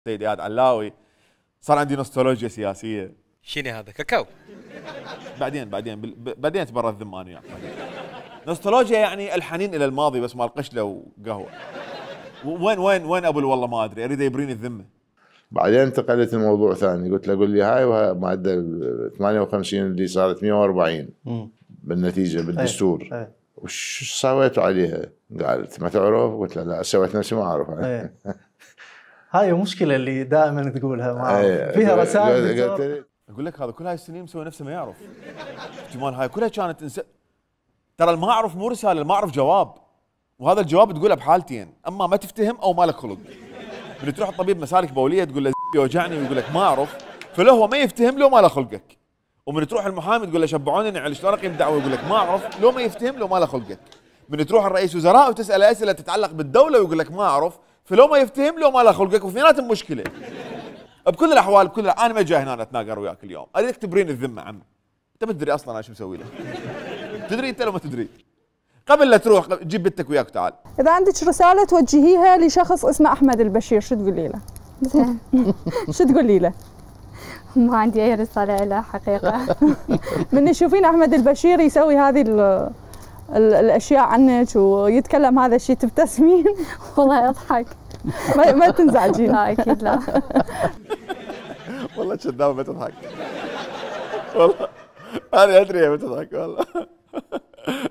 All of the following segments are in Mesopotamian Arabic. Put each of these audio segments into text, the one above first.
سيد اياد علاوي، صار عندي نوستولوجيا سياسيه. شنو هذا كاكاو؟ بعدين تبرى الذم انا وياك. نوستولوجيا يعني الحنين الى الماضي بس مال قشله وقهوه. وين ابو والله ما ادري، اريد يبريني الذمه. بعدين انتقلت الموضوع ثاني، قلت له قول لي هاي ماده 58 اللي صارت 140 بالنتيجه بالدستور، وش سويتوا عليها؟ قالت ما تعرف؟ قلت له لا، سويت نفسي ما اعرف. هاي المشكله اللي دائما تقولها، ما أعرف. فيها رسائل. اقول لك هذا كل هاي السنين مسوي نفسه ما يعرف. احتمال هاي كلها كانت ترى ما اعرف مو رساله، ما اعرف جواب، وهذا الجواب تقوله بحالتين، اما ما تفتهم او ما لك خلق. من تروح الطبيب مسالك بوليه تقول له يوجعني ويقول لك ما اعرف، فلو هو ما يفتهم لو ما له خلقك. ومن تروح المحامي تقول له شبعوني نعل شلون اقيم دعوه، يقول لك ما اعرف، لو ما يفتهم لو ما له خلقك. من تروح الرئيس وزراء وتساله اسئله تتعلق بالدوله ويقول لك ما اعرف، فلو ما يفتهم لو ما له خلقك، واثنيناتهم مشكله. بكل الاحوال انا ما جاي هنا اتناقر وياك اليوم، اريدك تبرين الذمه عم. انت ما تدري اصلا انا شو مسوي لك. تدري انت لو ما تدري. قبل لا تروح جيب بنتك وياك تعال. اذا عندك رساله توجهيها لشخص اسمه احمد البشير شو تقولي له؟ شو تقولي له؟ ما عندي اي رساله له حقيقه. من تشوفين احمد البشير يسوي هذه الاشياء عنك ويتكلم هذا الشيء تبتسمين؟ والله اضحك. ما تنزعجين؟ لا اكيد لا. والله كذابه ما تضحك. والله انا ادري ما تضحك والله.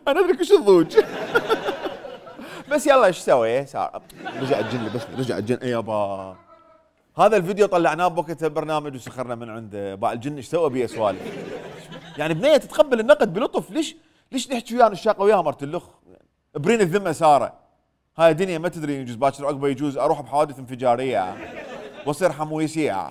انا ادري كل الضوج. بس يلا ايش سوي؟ رجع الجن بس رجع الجن. اي يابا هذا الفيديو طلعناه بوقت برنامج وسخرنا من عنده، باع الجن ايش سوى بيه سوالف؟ يعني بنيه تتقبل النقد بلطف، ليش نحكي وياها نشاق وياها مرت اللخ؟ برين الذمه ساره. هاي الدنيا ما تدري، يجوز باكر عقبه يجوز اروح بحوادث انفجاريه واصير حمويسيه.